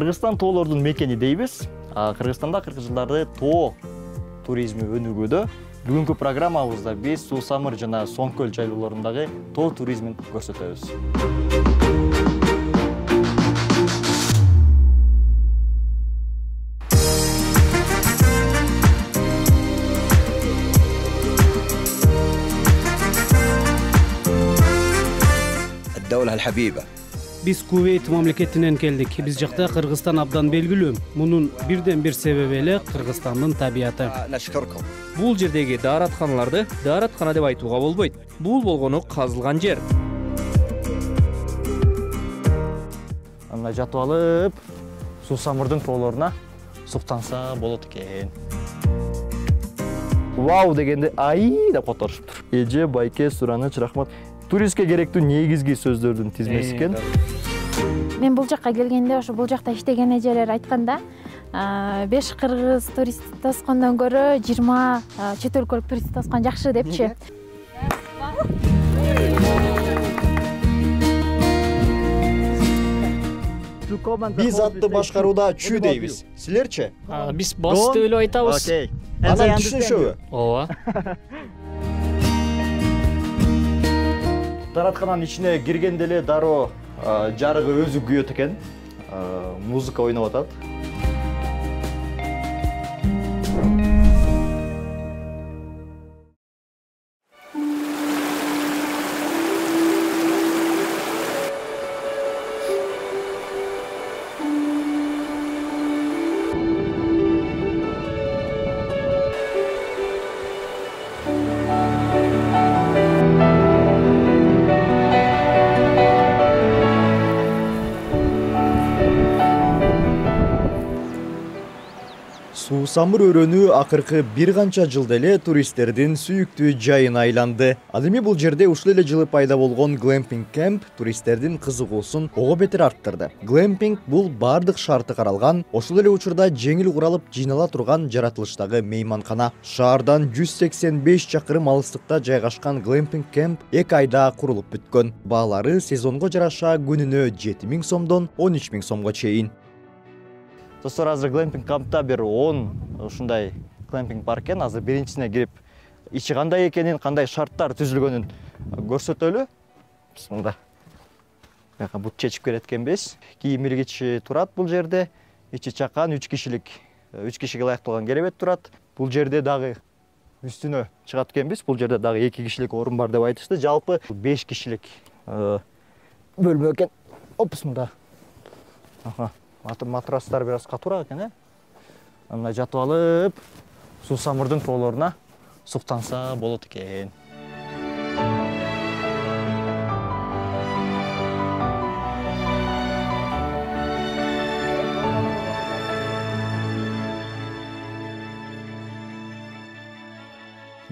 Кыргызстан тоолордун мекени дейбиз. Кыргызстанда акыркы жылдары тоо туризми өнүгүүдө. Бүгүнкү программабызда биз Суу Самыр жана Соң көл жайлоолорундагы тоо туризмин көрсөтөбүз. الدولة الحبيبة. Биз Кувейт мамлекетинен келдик. Биз жакта Кыргызстан абдан белгилүү. Мунун бирден бир себеби эле Кыргызстандын табияты. نشكركم. Бул жердеги дааратканаларды даараткана деп айтууга болбойт. Бул болгону казылган жер. Анда жатып алып, Суу Самырдын тоолоруна суктанса болот экен. Вау дегенде ай деп которушуптур. Эже, байке, сураныч, рахмат. Туристке керектүү негизги сөздөрдүн тизмеси экен. Мен бул жакка келгенде ошо бул жакта иштеген эжелер айтканда, 5 кыргыз турист тоскондон көрө 20 чет өлкөлүк турист тоскон жакшы депчи. Биз атты башкарууда чү дейбиз. Силерчи? Биз бас деп эле айтабыз. Окей. Анан түшүнүшөбү? Ооба. Даараткананын ичине киргенде эле дароо жарыгы өзү күйөт экен. Музыка ойноп атат. Суу Самыр өрөөнү акыркы бир канча жылда эле туристтердин сүйүктүү жайына айланды. Ал эми бул жерде ушул эле жылы пайда болгон глэмпинг кемп туристтердин кызыгуусун ого бетер арттырды. Глэмпинг бул бардык шарты каралган, ошол эле учурда жеңил куралып жыйнала турган жаратылыштагы мейманкана. Шаардан 185 чакырым алыстыкта жайгашкан глэмпинг кемп 2 айда курулуп бүткөн. Баалары сезонго жараша күнүнө 7000 сомдон 13000 сомго чейин. Достор, азыр глэмпинг кампта бир 10 ушундай глэмпинг бар экен. Азыр биринчисине кирип, ичи кандай экенин, кандай шарттар түзүлгөнүн көрсөтөлү. Мында бияка бут чечип келет экенбиз. Кийим илгичи турат бул жерде. Ичи чакан 3 кишиге ылайыкталган керебет турат. Бул жерде дагы үстүнө чыгат экенбиз. Бул жерде дагы 2 кишилик орун бар деп айтышты. Жалпы 5 кишилик бөлмө экен. Опс, мында. Матрастар бир аз катуураак экен, Анда жатып алып, Суу Самырдын тоолоруна суктанса болот экен.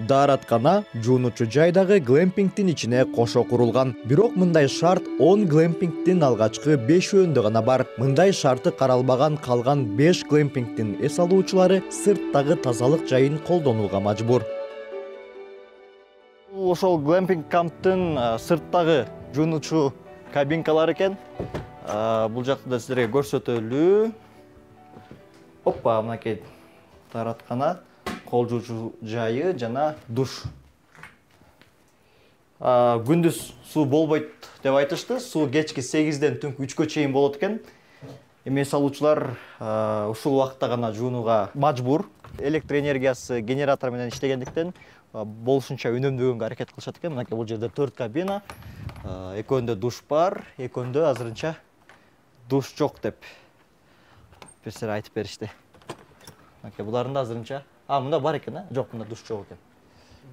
Даараткана жуунучу жайдагы глэмпингдин ичине кошо курулган. Бирок мындай шарт 10 глэмпингдин алгачкы 5-өндө гана бар. Мындай шарты каралбаган калган 5 глэмпингдин эс алуучулары сырттагы тазалык жайын колдонууга мажбур. Ошол глэмпинг камптын сырттагы жуунучу кабинкалар экен. Бул жакты да силерге көрсөтөлү. Оппа, мынакей даараткана, кол жуучу жайы жана душ. Күндүз суу болбойт деп айтышты. Суу кечки 8-ден түнкү 3-кө чейин болот экен. Эми салуучулар ушул убакытта гана жуунууга мажбур. Электр энергиясы генератор менен иштегендиктен болушунча үнөмдөгөнгө аракет кылышат экен. Мынакей бул жерде 4 кабина, экөөндө душ бар, экөөндө азырынча душ жок деп бирсилер айтып беришти. Мынакей булардын да азырынча мында бар экен, жок, мында душ жок экен.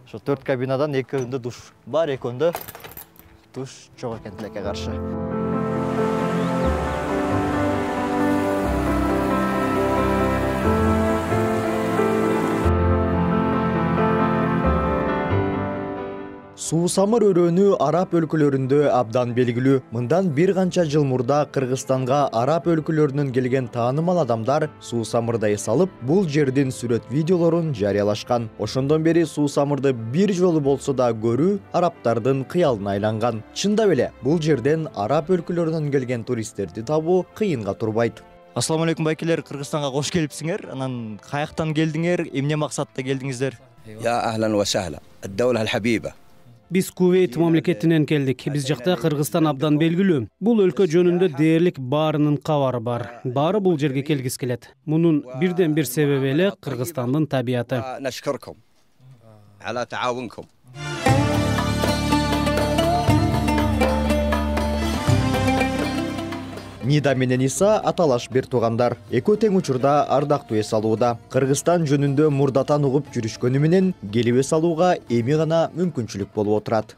Ошо 4 кабинадан экөөндө душ бар, экөөндө душ жок экен, тилекке каршы. Суу Самыр өрөөнү араб өлкөлөрүндө абдан белгилүү. Мындан бир канча жыл мурда Кыргызстанга араб өлкөлөрүнөн келген таанымал адамдар Суу Самырда эс алып, бул жердин сүрөт видеолорун жарыялашкан. Ошондон бери Суу Самырды бир жолу болсо да көрүү арабтардын кыялына айланган. Чындап эле, бул жерден араб өлкөлөрүнөн келген туристтерди табуу кыйынга турбайт. Ассаламу алейкум байкелер, Кыргызстанга кош келипсиңер. Анан каяктан келдиңер, эмне максатта келдиңиздер? يا أهلا وسهلا الدولة الحبيبة. Биз Кувейт мамлекетинен келдик. Биз жакта Кыргызстан абдан белгилүү. Бул өлкө жөнүндө дээрлик баарынын кабары бар. Баары бул жерге келгиси келет. Мунун бирден бир себеби эле Кыргызстандын табияты. نشكركم على تعاونكم. Нида менен Иса аталаш бир туугандар. Экөө тең учурда ардактуу эс алууда. Кыргызстан жөнүндө мурдатан угуп жүрүшкөнү менен келип эс алууга эми гана мүмкүнчүлүк болуп отурат.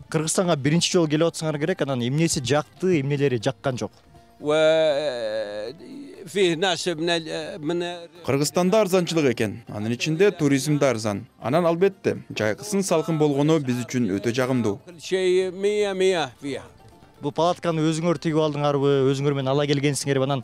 Кыргызстанга биринчи жолу келип атсаңар керек, анан эмнеси жакты, эмнелери жаккан жок? Кыргызстанда арзанчылык экен. Анын ичинде туризм да арзан. Анан албетте, жайкысын салкын болгону биз үчүн өтө жагымдуу. Бул палатканы өзүңөр тигип алдыңарбы, өзүңөр менен ала келгенсиңерби? Анан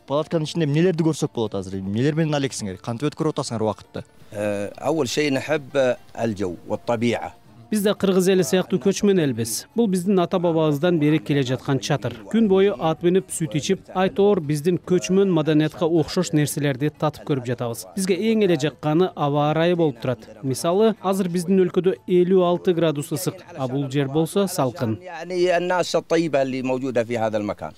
палатканын ичинде эмнелерди көрсөк болот азыр? Эмнелер менен алексиңер? Кантип өткөрүп атасыңар убакытты? أول شيء نحب الجو والطبيعة. Биз да кыргыз эли сыяктуу көчмөн элбиз. Бул биздин ата бабабыздан бери келе жаткан чатыр. Күн бою ат минип, сүт ичип, айтоор биздин көчмөн маданиятка окшош нерселерди татып көрүп жатабыз. Бизге эң эле жакканы аба ырайы болуп турат. Мисалы, азыр биздин өлкөдө 56 градус ысык, а бул жер болсо салкын. يعني الناس الطيبة اللي موجودة في هذا المكان.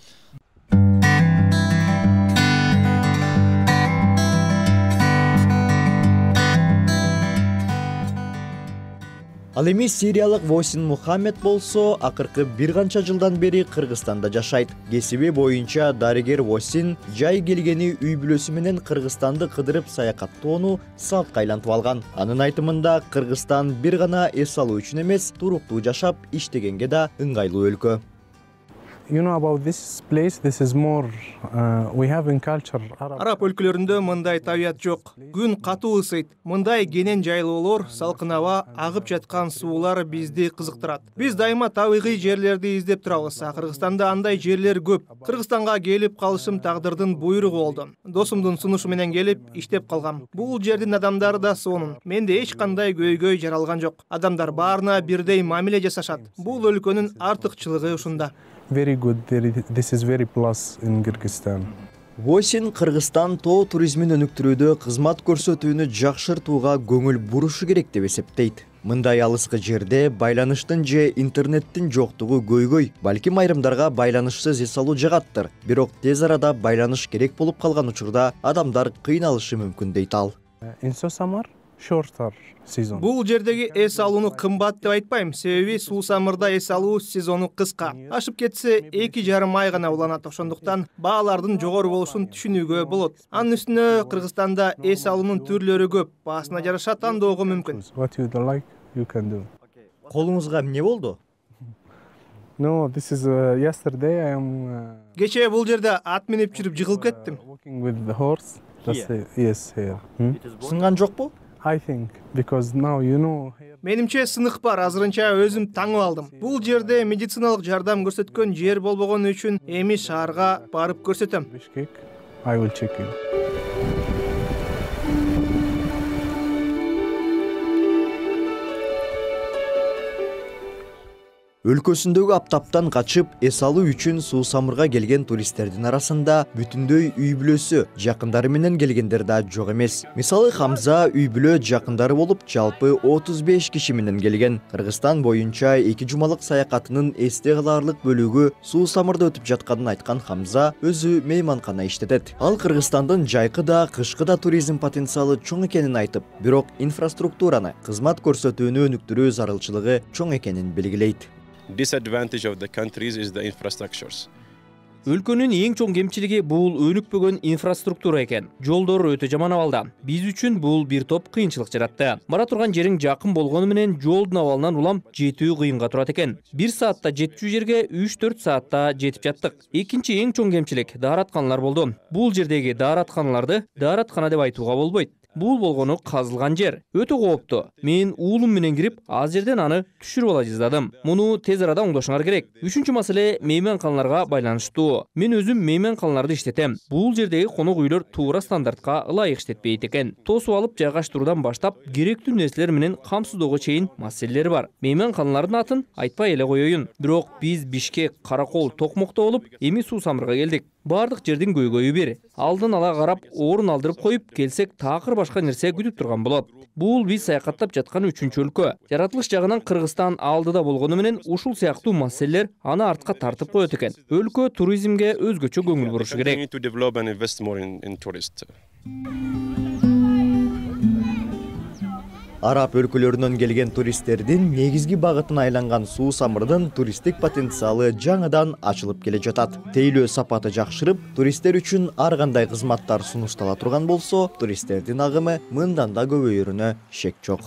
Ал эми сириялык Восин Мухаммед болсо акыркы бир канча жылдан бери Кыргызстанда жашайт. Кесиби боюнча дарыгер Восин жай келгени үй бүлөсү менен Кыргызстанды кыдырып саякаттоону салтка айлантып алган. Анын айтымында Кыргызстан бир гана эс алуу үчүн эмес, туруктуу жашап, иштегенге да ыңгайлуу өлкө. You know about this place, this is more, we have in culture. Араб өлкөлөрүндө мындай табият жок. Күн катуу ысыйт. Мындай кенен жайлоолор, салкын аба, агып жаткан суулар бизди кызыктырат. Биз дайыма табигый жерлерди издеп турабыз. Кыргызстанда андай жерлер көп. Кыргызстанга келип калышым тагдырдын буйругу болду. Досумдун сунушу менен келип иштеп калгам. Бул жердин адамдары да сонун. Менде эч кандай көйгөй жаралган жок. Адамдар баарына бирдей мамиле жасашат. Бул өлкөнүн артыкчылыгы ушунда. Very good. This is very plus in Kyrgyzstan. Восин Кыргызстан тоо туризмин өнүктүрүүдө кызмат көрсөтүүнү жакшыртууга көңүл бурушу керек деп эсептейт. Мындай алыскы жерде байланыштын же интернеттин жоктугу көйгөй, балким айрымдарга байланышсыз эс алуу жагаттыр. Бирок тез арада байланыш керек болуп калган учурда адамдар кыйналышы мүмкүн дейт ал. In summer, shorter season. Бул жердеги эс алууну кымбат деп айтпайм, себеби суусамырда эс алуу сезону кыска. Ашып кетсе 2,5 ай гана уланат. Ошондуктан баалардын жогору болушун түшүнүүгө болот. Анын үстүнө Кыргызстанда эс алуунун түрлөрү көп. Баасына жараша тандоого мүмкүн. What you like, you can do. Колуңузга эмне болду? No, this is yesterday I am Кечээ бул жерде ат минип жүрүп жыгылып кеттим. walking with the horse. Yes, here. Сынган жокпу? I think because now you know here. Менимче сынык бар, азырынча өзүм таңып алдым. Бул жерде медициналык жардам көрсөткөн жер болбогону үчүн эми шаарга барып көрсөтөм. Bishkek, I will check in. Өлкөсүндөгү аптаптан качып эс алуу үчүн суусамырга келген туристтердин арасында бүтүндөй үй бүлөсү, жакындары менен келгендер да жок эмес. Мисалы Хамза үй бүлө жакындары болуп, жалпы 35 киши менен келген. Кыргызстан боюнча 2 жумалык саякатынын эсте калаарлык бөлүгү суусамырда өтүп жатканын айткан Хамза өзү мейманкана иштетет. Ал Кыргызстандын жайкы да, кышкы да туризм потенциалы чоң экенин айтып, бирок инфраструктураны, кызмат көрсөтүүнү өнүктүрүү зарылчылыгы чоң экенин белгилейт. Disadvantage of the countries is the infrastructures. Өлкөнүн эң чоң кемчилиги бул өнүкпөгөн инфраструктура экен. Жолдор өтө жаман абалда. Биз үчүн бул бир топ кыйынчылык жаратты. Бара турган жериң жакын болгону менен жолдун абалынан улам жетүү кыйынга турат экен. 1 саатта жетчү жерге 3-4 саатта жетип жаттык. Экинчи эң чоң кемчилик дааратканалар болду. Бул жердеги дааратканаларды даараткана деп айтууга болбойт. Бул болгону казылган жер. Өтө кооптуу. Мен уулум менен кирип, аз жерден аны түшүрүп ала жаздадым. Муну тез арада оңдошуңар керек. Үчүнчү маселе мейманканаларга байланыштуу. Мен өзүм мейманканаларды иштетем. Бул жердеги конок үйлөр туура стандартка ылайык иштетпейт экен. Тосуп алып жайгаштыруудан баштап, керектүү нерселер менен камсыздоого чейин маселелер бар. Мейманканалардын атын айтпай эле коеюн. Бирок биз Бишкек, Каракол, Токмокто болуп, эми Суусамырга келдик. Бардык жердин көйгөйү бир. Алдын ала карап, орун алдырып коюп келсек, такыр башка нерсе күтүп турган болот. Бул биз саякаттап жаткан 3-чү өлкө. Жаратылыш жагынан Кыргызстан алдыда болгону менен ушул сыяктуу маселелер аны артка тартып коет экен. Өлкө туризмге өзгөчө көңүл бурушу керек. Араб өлкөлөрүнөн келген туристтердин негизги багытына айланган суу самырдын туристтик потенциалы жаңыдан ачылып келе жатат. Тейлөө сапаты жакшырып, туристтер үчүн ар кандай кызматтар сунуштала турган болсо, туристтердин агымы мындан да көбөйөрүнө шек жок.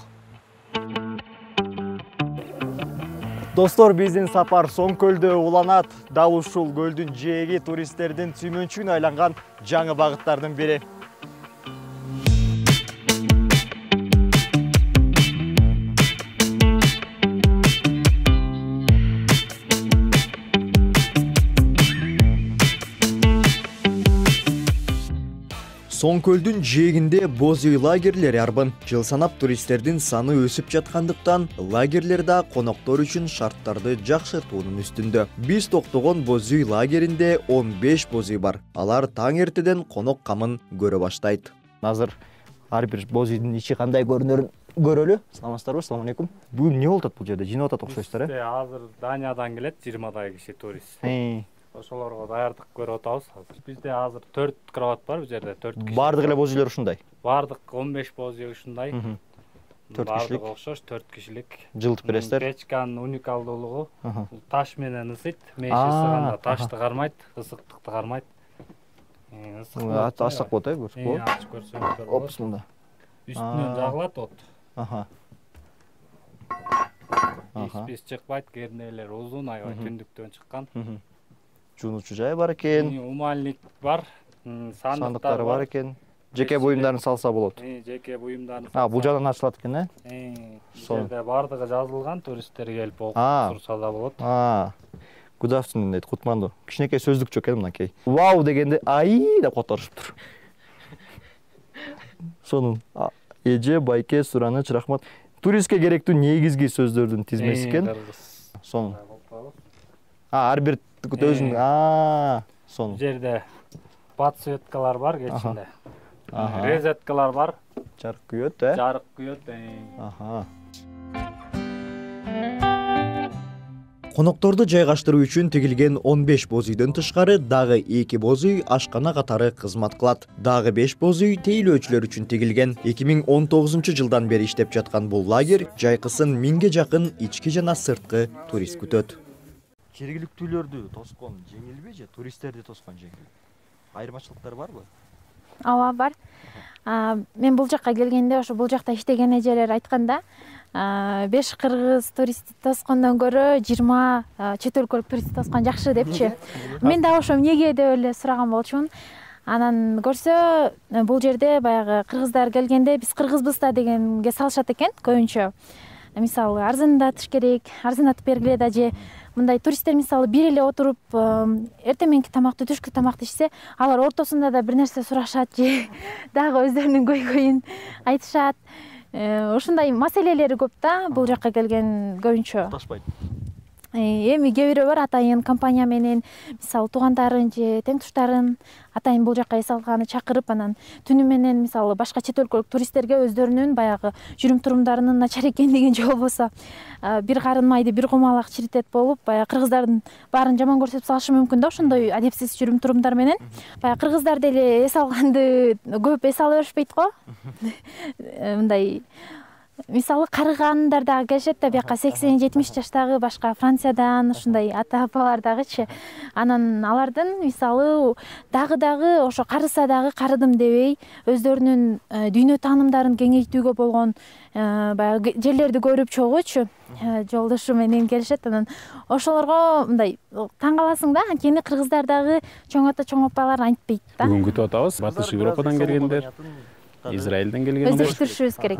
Достор, биздин сапар Соң көлдө уланат. Дал ушул көлдүн жээги туристтердин сүймөнчүгүнө айланган жаңы багыттардын бири. Соң көлдүн жээгинде боз үй лагерлери арбын. Жыл санап туристтердин саны өсүп жаткандыктан, лагерлер да коноктор үчүн шарттарды жакшыртуунун үстүндө. Биз токтогон боз үй лагеринде 15 боз үй бар. Алар таң эртеден конок камын көрө баштайт. Азыр ар бир боз үйдүн ичи кандай көрүнөрүн көрөлү. Саламатсыздарбы? Assalamu алейкум. Бул эмне болуп атат бул жерде? Жинип атат окшойсуздар, э? Азыр Даниядан келет 20 киши турист. Ошолорго даярдык көрүп атабыз азыр. Бизде азыр 4 кровать бар, бул жерде 4 киши. Бардык эле боз үйлөр ушундай. Бардык 15 боз үй ушундай. 4 кишилик. Окшош 4 кишилик. Жылытып бересиздер. Печканын уникалдуулугу таш менен ысыйт. Меш ысыганда ташты кармайт, ысыктыкты кармайт. Ачсак болот, э, көрсөк болот. Ачып көрсөңүздөр болот. Опс, мында. Үстүнөн жагылат от. Биз чыкпайт, кернелер узун, аябай түндүктөн чыккан. Жуунучу жай бар экен. Умальник бар, сандыктары бар экен. Жеке буюмдарын салса болот. Жеке буюмдарын. Бул жагынан ачылат экен, э? Бул жерде бардыгы жазылган, туристтер келип окуп турса да болот. Good afternoon дейт, кутманду. Кичинекей сөздүкчү экен мынакей. Вау дегенде ай деп которушуптур. Сонун эже, байке, сураныч, рахмат. Туристке керектүү негизги сөздөрдүн тизмеси экен. Сонун. Ар бир өзүнүн сонун. Жерде подсветкалар бар кечинде. Резеткалар бар. Жарык күйөт, э? Жарык күйөт. Конокторду жайгаштыруу үчүн тигилген 15 боз үйдөн тышкары дагы 2 боз үй ашкана катары кызмат кылат. Дагы 5 боз үй тейлөөчүлөр үчүн тигилген. 2019-жылдан бери иштеп жаткан бул лагерь жайкысын 1000ге жакын ички жана сырткы турист күтөт. Жергиликтүүлөрдү тоскон жеңилби же туристтерди тоскон жеңил? Айырмачылыктар барбы? Ооба, бар. Мен бул жакка келгенде ошо бул жакта иштеген эжелер айтканда, 5 кыргыз туристти тоскондон көрө 20 чет өлкөлүк туристти тоскон жакшы депчи. Мен да ошо эмнеге деп эле сураган болчумун. Анан көрсө бул жерде баягы кыргыздар келгенде биз кыргызбыз да дегенге салышат экен көбүнчө. Мисалы арзандатыш керек, арзандатып бергиле да же мындай туристтер мисалы бир эле отуруп эртең мененки тамакты, түшкү тамакты ичсе, алар ортосунда да бир нерсе сурашат же дагы өздөрүнүн көйгөйүн айтышат. Ушундай маселелери көп да бул жакка келген көбүнчө. Ташпайт. Эми кээ бирөө бар атайын компания менен мисалы туугандарын же тең туштарын атайын бул жакка эс алганы чакырып, анан түнү менен мисалы башка чет өлкөлүк туристтерге өздөрүнүн баягы жүрүм турумдарынын начар экендигин же болбосо бир карын майды бир кумалак чиритет болуп, баягы кыргыздардын баарын жаман көрсөтүп салышы мүмкүн да ошондой адепсиз жүрүм турумдар менен. Баягы кыргыздар деле эс алганды көп эс ала беришпейт го. Мындай мисалы карыгандар дагы келишет да бияка 80-70 жаштагы башка Франциядан ушундай ата апалар дагычы. Анан алардын мисалы дагы ошо карыса дагы карыдым дебей өздөрүнүн дүйнө таанымдарын кеңейтүүгө болгон баягы жерлерди көрүп чогуучу жолдошу менен келишет. Анан ошолорго мындай таң каласың да, анткени кыргыздар дагы чоң ата чоң апалар антпейт да. Бүгүн күтүп атабыз. Батыш Европадан келгендер, Израилден келгендер. Өздөштүрүшүбүз керек.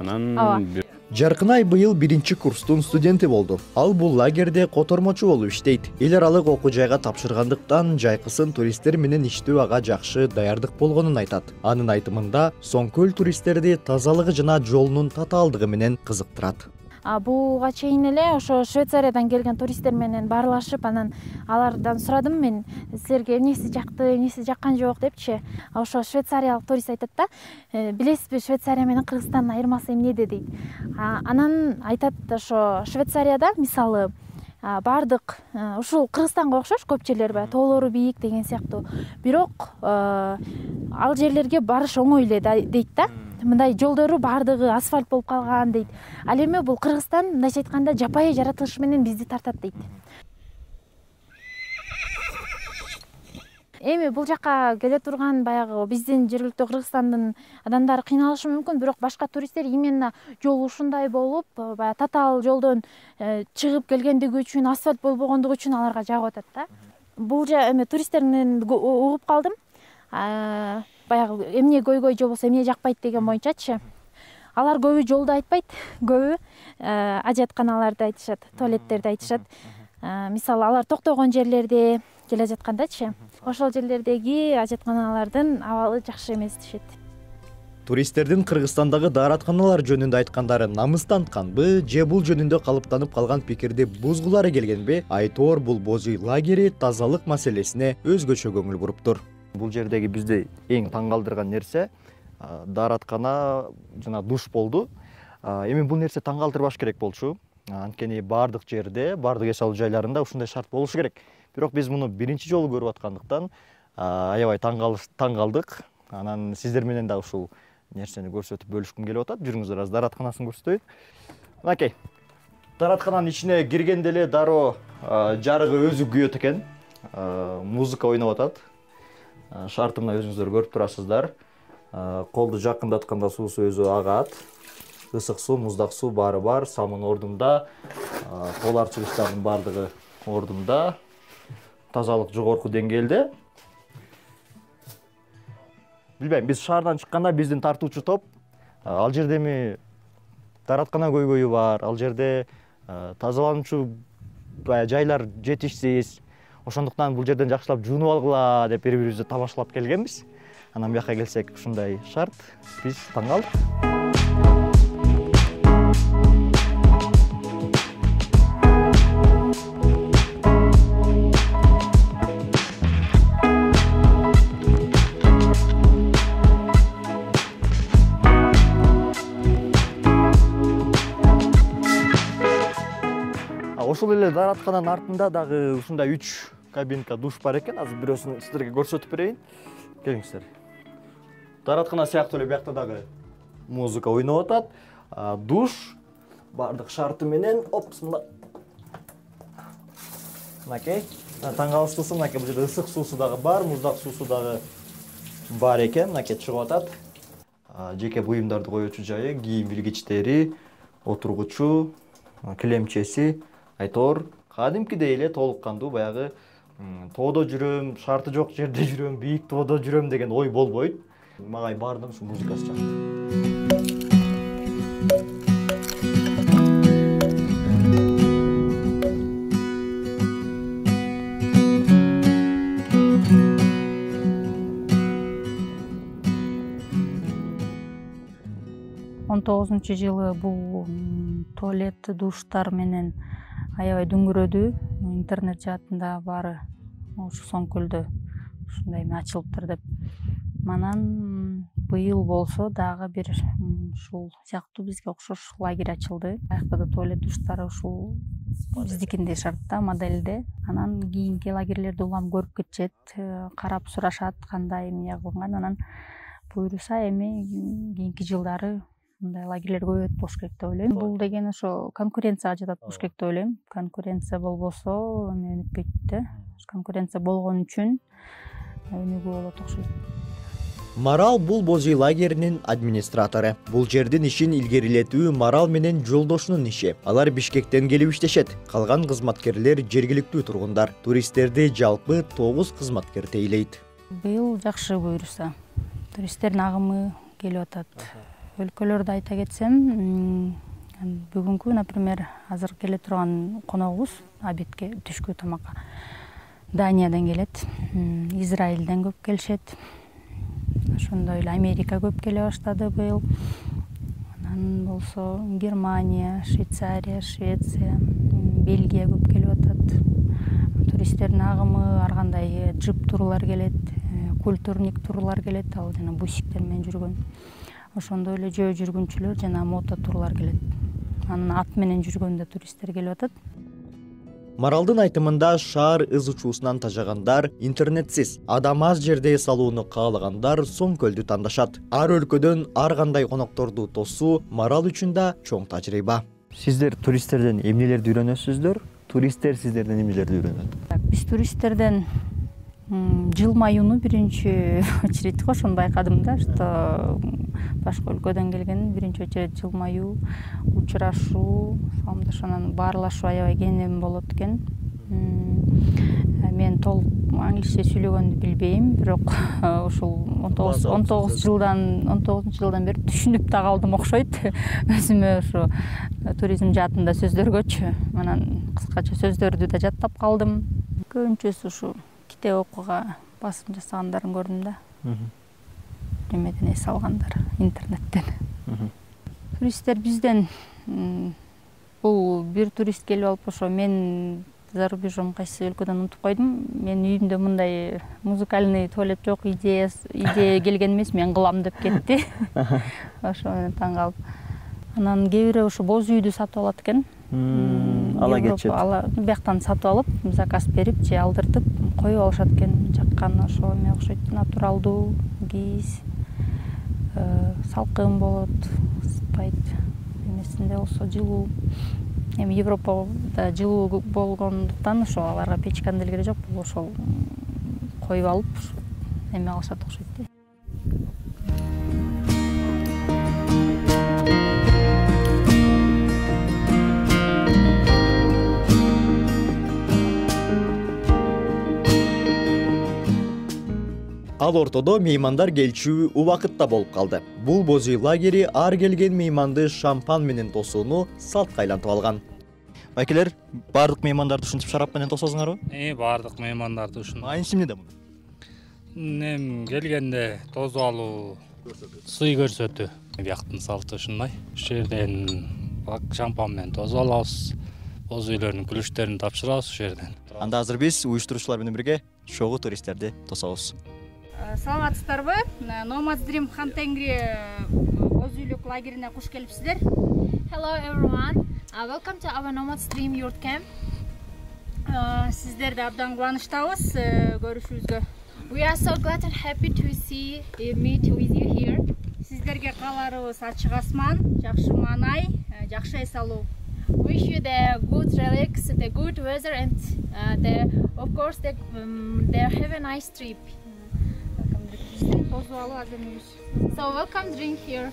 Жаркынай быйыл 1-курстун студенти болду. Ал бул лагерде котормочу болуп иштейт. Эл аралык окуу жайга тапшыргандыктан жайкысын туристтер менен иштөө ага жакшы даярдык болгонун айтат. Анын айтымында Соң көл туристтерди тазалыгы жана жолунун татаалдыгы менен кызыктырат. буга чейин эле ошо Швейцариядан келген туристтер менен баарлашып, анан алардан сурадым мен, силерге эмнеси жакты, эмнеси жаккан жок депчи. Ошо швейцариялык турист айтат да, билесизби, Швейцария менен Кыргызстандын айырмасы эмнеде дейт. Анан айтат, ошо Швейцарияда мисалы бардык ушул Кыргызстанга окшош көп жерлер бар, тоолору бийик деген сыяктуу. Бирок ал жерлерге барыш оңой эле дейт да. Мындай жолдору бардыгы асфальт болуп калган дейт. Ал эми бул Кыргызстан мындайча айтканда жапайы жаратылышы менен бизди тартат дейт. Эми бул жака келе турган баягы биздин жергиликтүү Кыргызстандын адамдары кыйналышы мүмкүн, бирок башка туристтер именно жол ушундай болуп, баягы татаал жолдон чыгып келгендиги үчүн, асфальт болбогондугу үчүн аларга жагып атат да. Бул эми туристтерден угуп калдым. Баягы эмне көйгөй же болбосо эмне жакпайт деген боюнчачы. Алар көбү жолду айтпайт, көбү ажатканаларды айтышат, туалеттерди айтышат. Мисалы алар токтогон жерлерде келе жаткандачы, ошол жерлердеги ажатканалардын абалы жакшы эмес дешет. Туристтердин Кыргызстандагы дааратканалар жөнүндө айткандары намыстантканбы же бул жөнүндө калыптанып калган пикирди бузгулары келгенби? Айтор бул боз үй лагери тазалык маселесине өзгөчө көңүл буруптур. Бул жердеги бизди эң таң калтырган нерсе даараткана жана душ болду. Эми бул нерсе таң калтырбаш керек болчу. Анткени бардык жерде, бардык эс алуу жайларында ушундай шарт болушу керек. Бирок биз муну биринчи жолу көрүп аткандыктан аябай таң калдык. Анан сиздер менен да ушул нерсени көрсөтүп бөлүшкүм келип атат. Жүрүңүздөр, аз дааратканасын көрсөтөйүн. Мынакей. Даараткананын ичине киргенде эле дароо жарыгы өзү күйөт экен. Музыка ойноп атат. Шарты мына өзүңүздөр көрүп турасыздар. Колду жакындатканда суусу өзү агат. Ысык суу, муздак суу баары бар, самын ордунда. Кол арчылыштардын бардыгы ордунда. Тазалык жогорку деңгээлде. Билбейм, биз шаардан чыкканда биздин тартуучу топ ал жерде эми даараткана көйгөйү бар, ал жерде тазалануучу жайлар жетишсиз. Ошондуктан бул жерден жакшылап жуунуп алгыла деп бири-бирибизди тамашалап келгенбиз. Анан бияка келсек ушундай шарт, биз таң калдык. Ошол эле даараткананын артында дагы ушундай 3 кабинка душ бар экен. Азыр бирөөсүн сиздерге көрсөтүп берейин. Келиңиздер. Даараткана сыяктуу эле биякта дагы музыка ойноп атат. Душ бардык шарты менен, мына. Мынакей. Таң калыштуусу мынакей, бул жерде ысык суусу дагы бар, муздак суусу дагы бар экен. Мынакей чыгып атат. Жеке буюмдарды коечу жайы, кийим илгичтери, отургучу, килемчеси. Айтор кадимкидей эле толук кандуу, баягы тоодо жүрөм, шарты жок жерде жүрөм, бийик тоодо жүрөм деген ой болбойт. Мага баардыгы ушу музыкасы жакшы. Жылы бул туалет, душтар менен аябай дүңгүрөдү. Интернет жаатында баары ушу Соңкөлдө ушундай ачылыптыр деп. Манан быйыл болсо дагы бир ушул сыяктуу бизге окшош лагерь ачылды. Аякта да туалет, душтары ушул биздикиндей шартта, моделде. Анан кийинки лагерлерди улам көрүп кетишет, карап сурашат кандай эмне кылган. Анан буюрса эми кийинки жылдары мындай лагерлер көбөйөт болуш керек деп ойлойм. Бул деген ошо конкуренцияга жатат болуш керек деп ойлойм. Конкуренция болбосо эми өнүкпөйт да. Конкуренция болгон үчүн өнүгүү болот окшойт. Марал бул боз үй лагеринин администратору. Бул жердин ишин илгерилетүү Марал менен жолдошунун иши. Алар Бишкектен келип иштешет. Калган кызматкерлер жергиликтүү тургундар. Туристтерди жалпы 9 кызматкер тейлейт. Быйыл жакшы буюрса. Туристтердин агымы келип атат. Өлкөлөрдү айта кетсем, бүгүнкү, например, азыр келе турган коногубуз обедке, түшкү тамакка Даниядан келет, Израилден көп келишет. Ошондой эле Америка көп келе баштады быйыл. Анан болсо Германия, Швейцария, Швеция, Бельгия көп келип атат. Туристтердин агымы ар кандай джип турлар келет, культурник турлар келет, ал жана бусиктер менен жүргөн. Ошондой эле жөө жүргүнчүлөр жана мото турлар келет. Анан ат менен жүргөндө туристтер келип атат. Маралдын айтымында шаар ыз учуусунан тажагандар, интернетсиз, адам аз жерде эс алууну каалагандар Соң көлдү тандашат. Ар өлкөдөн ар кандай конокторду тосуу Марал үчүн да чоң тажрыйба. Сиздер туристтерден эмнелерди үйрөнөсүздөр? Туристтер сиздерден эмнелерди үйрөнөт? Биз туристтерден жылмаюуну биринчи очередь ошону байкадым да, что башка өлкөдөн келген биринчи очередь жылмаюу, учурашуу, саламдашуу, баарлашуу аябай кенен болот экен. Мен толук англисче сүйлөгөндү билбейм, бирок ушул 19-жылдан бери түшүнүп да калдым окшойт. Өзүмө ушу туризм жаатында сөздөргөчү. Анан кыскача сөздөрдү да жаттап калдым. Көбүнчөсү ушу китеп окууга басым жасагандарын көрдүм да. Немеден эс алгандар, интернеттен. Туристтер бизден бул бир турист келип алып ошо мен за рубежом кайсы өлкөдөн унутуп койдум. Мен үйүмдө мындай музыкальный туалет жок, идея келген эмес, мен кылам деп кетти. Ошо менен таң калып. Анан кээ бири ошо боз үйдү сатып алат экен. Ала кетет. Бияктан сатып алып, заказ берип же алдыртып коюп алышат экен. Жаккан ошо эме окшойт, натуралдуу, кийиз, салкын болот, ысытпайт. Эмесинде болсо жылуу. Эми Европада жылуу болгондуктан ошо аларга печканын деле кереги жок, бул ошол коюп алып эме алышат окшойт да. Ал ортодо меймандар келчү убакытта болуп калды. Бул боз үй лагери ар келген мейманды шампан менен тосууну салтка айлантып алган. Байкелер, бардык меймандарды ушинтип шарап менен тососуңарбы? Бардык меймандарды ушинтип. Майнысы эмнеде муну? Келгенде тосуп алуу, сый көрсөтүү. Бияктын салты ушундай. Ушул жерден шампан менен тосуп алабыз. Боз үйлөрдүн күлүштөрүн тапшырабыз ушул жерден. Анда азыр биз уюштуруучулар менен бирге чогуу туристтерди тособуз. Саламатсыздарбы? Nomads Dream Хан Тенгри боз үйлүк лагерине куш келипсиздер. Hello everyone. Welcome to our Nomads Dream Yurt Camp. Сиздерди абдан кубанычтабыз көрүшүбүзгө. We are so glad and happy to meet with you here. Сиздерге кааларыбыз ачык асман, жакшы маанай, жакшы эс алуу. Wish you the good relax, the good weather, and of course they have a nice trip. So welcome, drink here.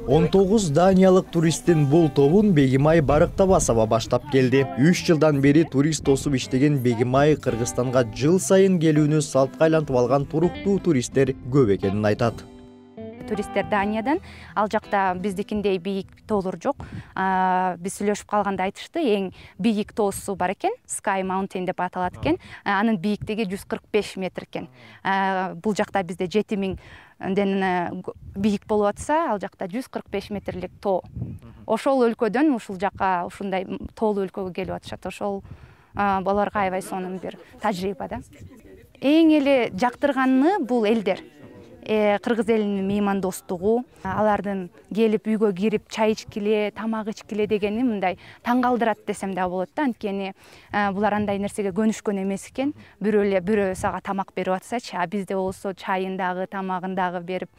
Он 19 даниялык туристтин бул тобун Бегимай Барыктабасова баштап келди. 3 жылдан бери турист тосуп иштеген Бегимай Кыргызстанга жыл сайын келүүнү салтка айлантып алган туруктуу туристтер көп экенин айтат. Туристтер Даниядан, ал жакта биздикиндей бийик тоолор жок. Биз сүйлөшүп калганда айтышты, эң бийик тоосу бар экен, Sky Mountain деп аталат экен. Анын бийиктиги 145 метр экен. Бул жакта бизде 7000ден бийик болуп атса, ал жакта 145 метрлик тоо. Ошол өлкөдөн ушул жака ушундай тоолуу өлкөгө келип атышат. Ошол аларга аябай сонун бир тажрыйба да. Эң эле жактырганы бул элдер. Кыргыз элинин меймандостугу, алардын келип үйгө кирип чай ичкиле, тамак ичкиле дегени мындай таң калтырат десем да болот да. Анткени булар андай нерсеге көнүшкөн эмес экен. Бирөө сага тамак берип атсачы, бизде болсо чайын дагы, тамагын дагы берип,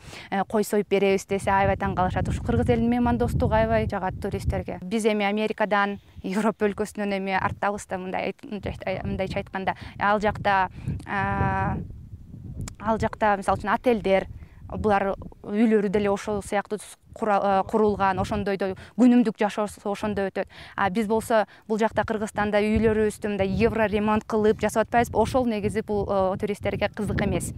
кой союп беребиз десе аябай таң калышат. Ушу кыргыз элинин меймандостугу аябай жагат туристтерге. Биз эми Америкадан, Европа өлкөсүнөн эми арттабыз да, мындайча айтканда. Ал жакта ал жакта мисалы үчүн отелдер, булар үйлөрү деле ошол сыяктуу курулган, ошондойдо күнүмдүк жашоо ошондо өтөт. Биз болсо бул жакта Кыргызстанда үйлөрүбүздү мындай евро ремонт кылып жасап атпайбызбы? Ошол негизи бул туристтерге кызык эмес.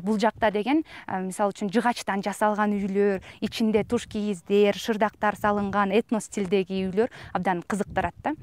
Бул жакта деген мисалы үчүн жыгачтан жасалган үйлөр, ичинде туш кийиздер, шырдактар салынган этно стилдеги үйлөр абдан кызыктырат да.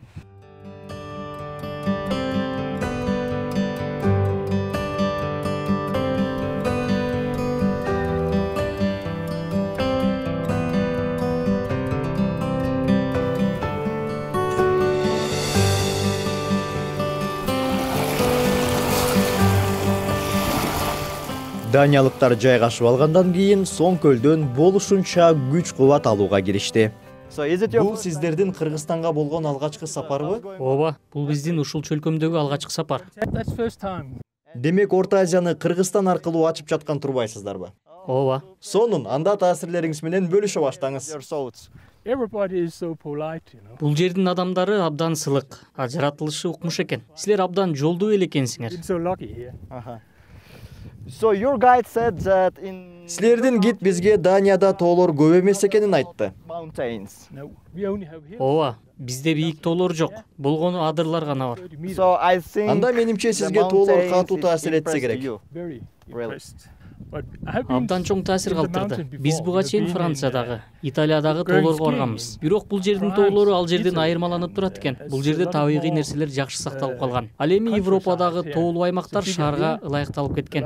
Даниялыктар жайгашып алгандан кийин Соң көлдөн болушунча күч кубат алууга киришти. Бул сиздердин Кыргызстанга болгон алгачкы сапарбы? Ооба, бул биздин ушул чөлкөмдөгү алгачкы сапар. Демек, Орто Азияны Кыргызстан аркылуу ачып жаткан турбайсыздарбы? Ооба. Сонун, анда таасирлериңиз менен бөлүшө баштаңыз. Бул жердин адамдары абдан сылык, жаратылышы укмуш экен. Силер абдан жолдуу эле экенсиңер. Силердин гид бизге Данияда тоолор көп эмес экенин айтты. Ооба, бизде бийик тоолор жок. Болгону адырлар гана бар. Анда менимче сизге тоолор катуу таасир этсе керек. Абдан чоң таасир калтырды. Биз буга чейин Франциядагы, Италиядагы тоолорго барганбыз. Бирок бул жердин тоолору ал жерден айырмаланып турат экен. Бул жерде табигый нерселер жакшы сакталып калган. Ал эми Европадагы тоолуу аймактар шаарга ылайыкталып кеткен.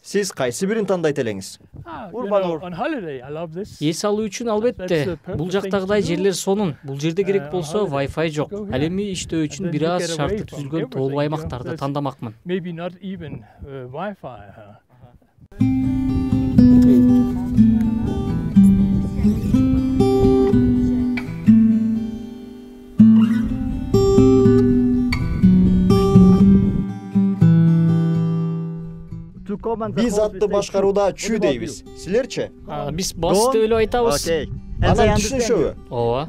Сиз кайсы бирин тандайт элеңиз? Эс алуу үчүн албетте. Бул жактагыдай жерлер сонун. Бул жерде керек болсо Wi-Fi жок. Ал эми иштөө үчүн бир аз шарты түзүлгөн тоолуу аймактарды тандамакмын. Биз атты башкарууда чү дейбиз. Силерчи? Биз бас деп эле айтабыз. Анан түшүнүшөбү? Ооба.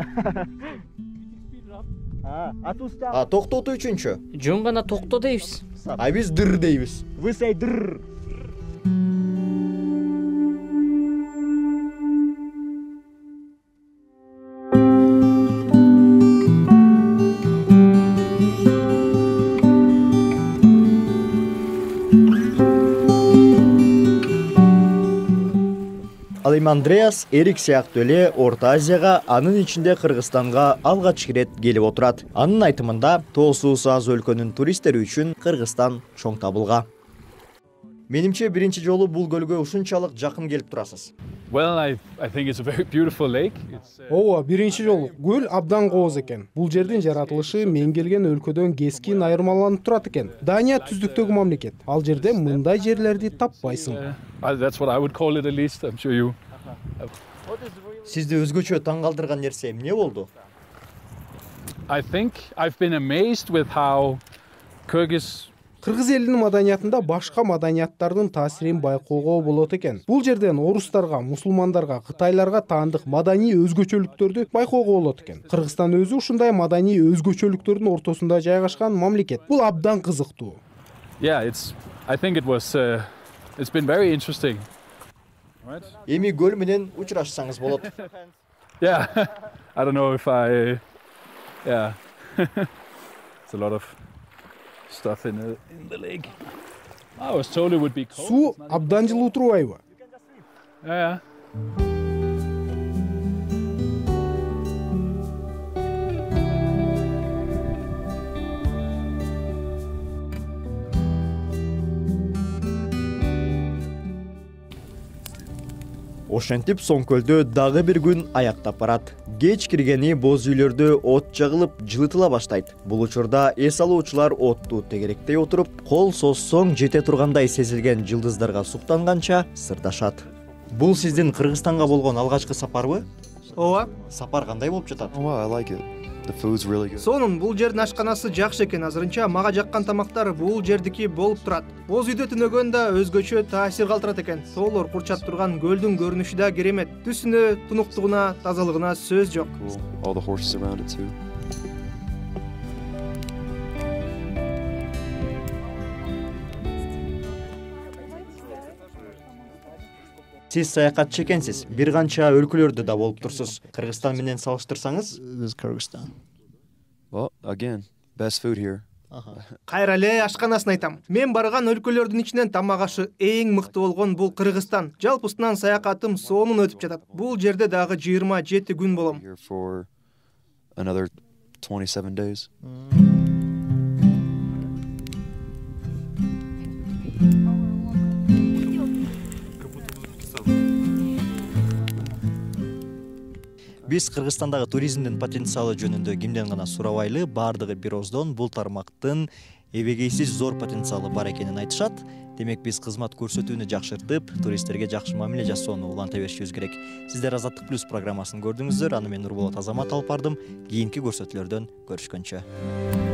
Токтотуу үчүнчү? Жөн гана токто дейбиз. Биз дыр дейбиз. Вы say дыр. Ал эми Андреас Эрик сыяктуу эле Орто Азияга, анын ичинде Кыргызстанга алгач ирет келип отурат. Анын айтымында, тоосуусу аз өлкөнүн туристтери үчүн Кыргызстан чоң табылга. Менимче биринчи жолу бул көлгө ушунчалык жакын келип турасыз. Ооба, биринчи жолу. Көл абдан кооз экен. Бул жердин жаратылышы мен келген өлкөдөн кескин айырмаланып турат экен. Дания түздүктөгү мамлекет. Ал жерде мындай жерлерди таппайсың. Сизди өзгөчө таң калтырган нерсе эмне болду? Кыргыз элинин маданиятында башка маданияттардын таасирин байкоого болот экен. Бул жерден орустарга, мусулмандарга, кытайларга таандык маданий өзгөчөлүктөрдү байкоого болот экен. Кыргызстан өзү ушундай маданий өзгөчөлүктөрдүн ортосунда жайгашкан мамлекет. Бул абдан кызыктуу. Эми көл менен учурашсаңыз болот. Суу абдан жылуу турбайбы? Ошентип Соң көлдө дагы бир күн аяктап барат. Кеч киргени боз үйлөрдө от жагылып, жылытыла баштайт. Бул учурда эс алуучулар отту тегеректей отуруп, кол соссоң жете тургандай сезилген жылдыздарга суктанганча сырдашат. Бул сиздин Кыргызстанга болгон алгачкы сапарбы? Ооба. Сапар кандай болуп жатат? Сонун, бул жердин ашканасы жакшы экен. Азырынча мага жаккан тамактар бул жердики болуп турат. Боз үйдө түнөгөн да өзгөчө таасир калтырат экен. Тоолор курчап турган көлдүн көрүнүшү да керемет. Түсүнө, тунуктугуна, тазалыгына сөз жок. Сиз саякатчы экенсиз, бир канча өлкөлөрдө да болуп турсуз. Кыргызстан менен салыштырсаңыз? Kyrgyzstan. Well, again, best food here. Кайра эле ашканасын айтам. Мен барган өлкөлөрдүн ичинен тамак ашы эң мыкты болгон бул Кыргызстан. Жалпысынан саякатым сонун өтүп жатат. Бул жерде дагы 27 күн болом. Here for another 27 days. Биз Кыргызстандагы туризмдин потенциалы жөнүндө кимден гана сурабайлы, баардыгы бир ооздон бул тармактын эбегейсиз зор потенциалы бар экенин айтышат. Демек биз кызмат көрсөтүүнү жакшыртып, туристтерге жакшы мамиле жасоону уланта беришибиз керек. Сиздер Азаттык плюс программасын көрдүңүздөр. Аны мен Нурболот Азамат алып бардым. Кийинки көрсөтүүлөрдөн көрүшкөнчө.